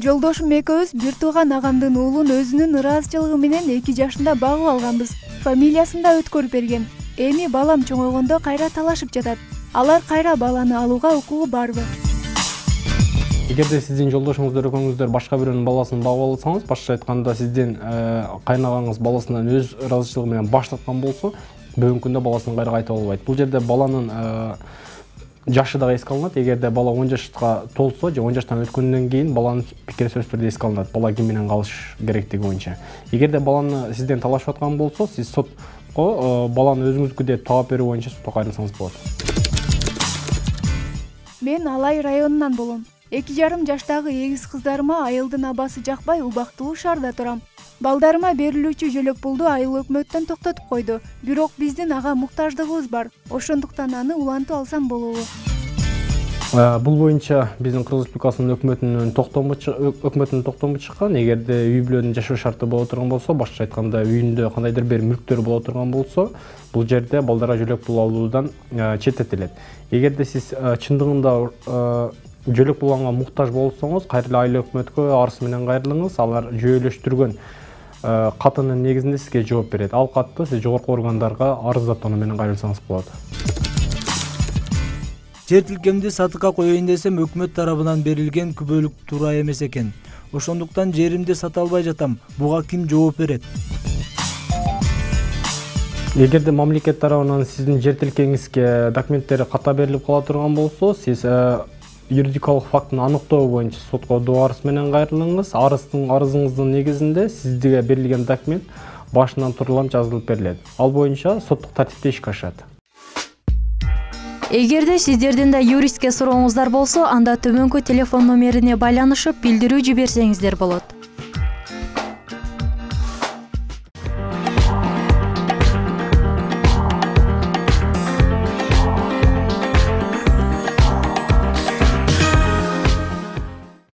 Жолдошум экөөбүз бир тууган агамдын уулун өзүнүн ыраазычылыгы менен 2 жашында багып алганбыз. Фамилиясын да өткөрүп берген. Эми балам чоңойгондо кайра талашып жатат. Алар кайра баланы алууга укугу барбы? Эгерде сиздин жолдошуңуздар экөөңүздөр башка бирөөнүн баласын багып алсаңыз, башкача айтканда сиздин кайнагаңыз баласынан өз ыраазычылыгы менен баш тарткан болсо, бүгүнкү күндө баласын кайра кайтып албайт. Бул жерде баланын жашы дагы эске алынат. Эгерде бала 10 жашка толсо же 10 жаштан өткөндөн кийин баланын пикири сөзсүз түрдө эске алынат. Бала ким менен калыш керектиги боюнча. Эгерде баланы сизден талашып аткан болсо, сиз сотко баланы өзүңүздүкү деп таап берүү боюнча сотко кайрылсаңыз болот. Мен Алай районунан болом. 2,5 жаштагы эгиз кыздарыма айылдын абасы жакпай убактылуу шаарда турам. Балдарыма берилүүчү жөлөк пулду айыл өкмөттөн токтотуп койду. Бирок биздин ага муктаждыгыбыз бар. Ошондуктан аны улантып алсам болобу? Бул боюнча биздин Кыргыз Республикасынын өкмөтүнүн токтому чыккан. Эгерде үй бүлөнүн жашоо шарты боло турган болсо, башкача айтканда үйүндө кандайдыр бир мүлктөр боло турган болсо, бул жерде балдарга жөлөк пул алуудан четтетилет. Эгерде сиз чындыгында жөлөк пулга муктаж болсоңуз, кайра эле айыл өкмөткө арыз менен кайрылыңыз. Алар жүйөлөштүргөн катынын негизинде сизге жооп берет. Ал катты сиз жогорку органдарга арыздатуу менен кайрылсаңыз болот. Жер тилкемди сатыкка коеюн десем, өкмөт тарабынан берилген күбөлүк туура эмес экен. Ошондуктан жеримди сата албай жатам. Буга ким жооп берет? Эгерде мамлекет тарабынан сиздин жер тилкеңизге документтери ката берилип кала турган болсо, сиз юридикалык фактын аныктоо боюнча сотко доо арыз менен кайрылыңыз. Арызыңыздын негизинде сизге берилген документ башынан турулам жазылып берилет. Ал боюнча соттук тартипте ишке ашат. Эгерде сиздердин да юристке сурооңуздар болсо, анда төмөнкү телефон номерине байланышып билдирүү жиберсеңиздер болот.